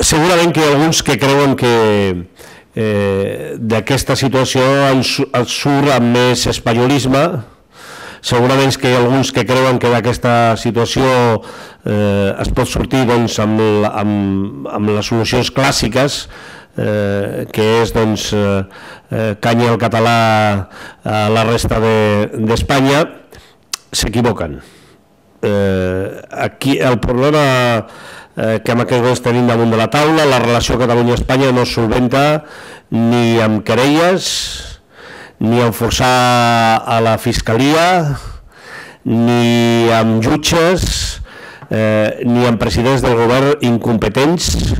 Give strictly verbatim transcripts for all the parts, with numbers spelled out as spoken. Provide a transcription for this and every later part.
segurament que hi ha alguns que creuen que d'aquesta situació en surt amb més espanyolisme, segurament que hi ha alguns que creuen que d'aquesta situació es pot sortir amb les solucions clàssiques, que és canya el català a la resta d'Espanya. S'equivoquen. Aquí el problema que amb aquest govern tenim damunt de la taula, la relació Catalunya-Espanya no es solventa ni amb querelles, ni amb forçar a la fiscalia, ni amb jutges, ni amb presidents del govern incompetents,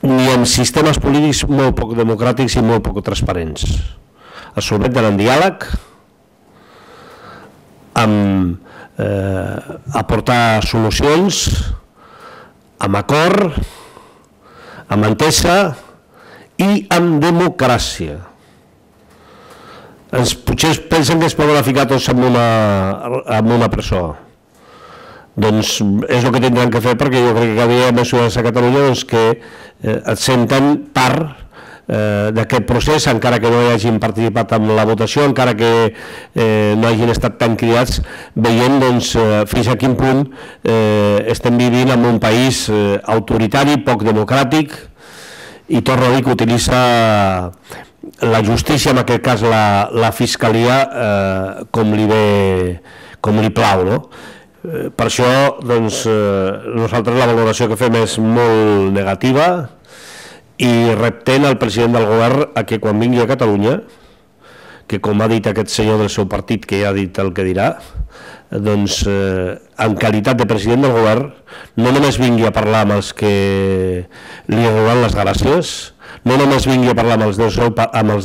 ni amb sistemes polítics molt poc democràtics i molt poc transparents. Es solventen en diàleg, amb aportar solucions, amb acord, amb entesa i amb democràcia. Potser pensen que es poden ficar tots en una presó. Doncs és el que tindran que fer, perquè jo crec que cada dia hi ha mesures a Catalunya que et senten part d'aquest procés, encara que no hi hagin participat en la votació, encara que no hagin estat tan cridats, veient fins a quin punt estem vivint en un país autoritari, poc democràtic, i torno a dir que utilitza la justícia, en aquest cas la fiscalia, com li plau. Per això nosaltres la valoració que fem és molt negativa, i reptem al president del govern a que quan vingui a Catalunya, que com ha dit aquest senyor del seu partit, que ja ha dit el que dirà, doncs en qualitat de president del govern no només vingui a parlar amb els que li donen les gràcies, no només vingui a parlar amb els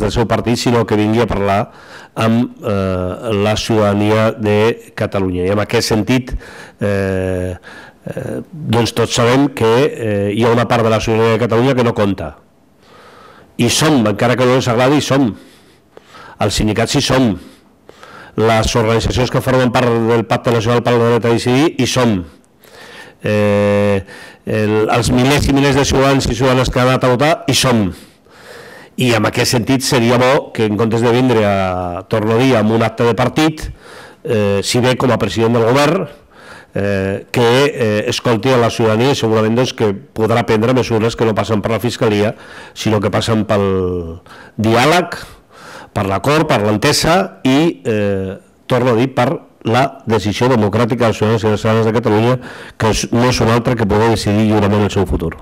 del seu partit, sinó que vingui a parlar amb la ciutadania de Catalunya. I en aquest sentit doncs tots sabem que hi ha una part de la ciutadania de Catalunya que no compta, i som, encara que no ens agradi, som els sindicats, hi som les organitzacions que formen part del Pacte Nacional per al Dret a Decidir, hi som els milers i milers de ciutadans i ciutadanes que han anat a votar, hi som. I en aquest sentit seria bo que en comptes de vindre a, torno a dir, amb un acte de partit, si ve com a president del govern, que escolti a la ciutadania, i segurament que podrà prendre mesures que no passen per la fiscalia, sinó que passen pel diàleg, per l'acord, per l'entesa i, torno a dir, per la decisió democràtica dels ciutadans i les ciutadanes de Catalunya, que no és una altra que poder decidir lliurement el seu futur.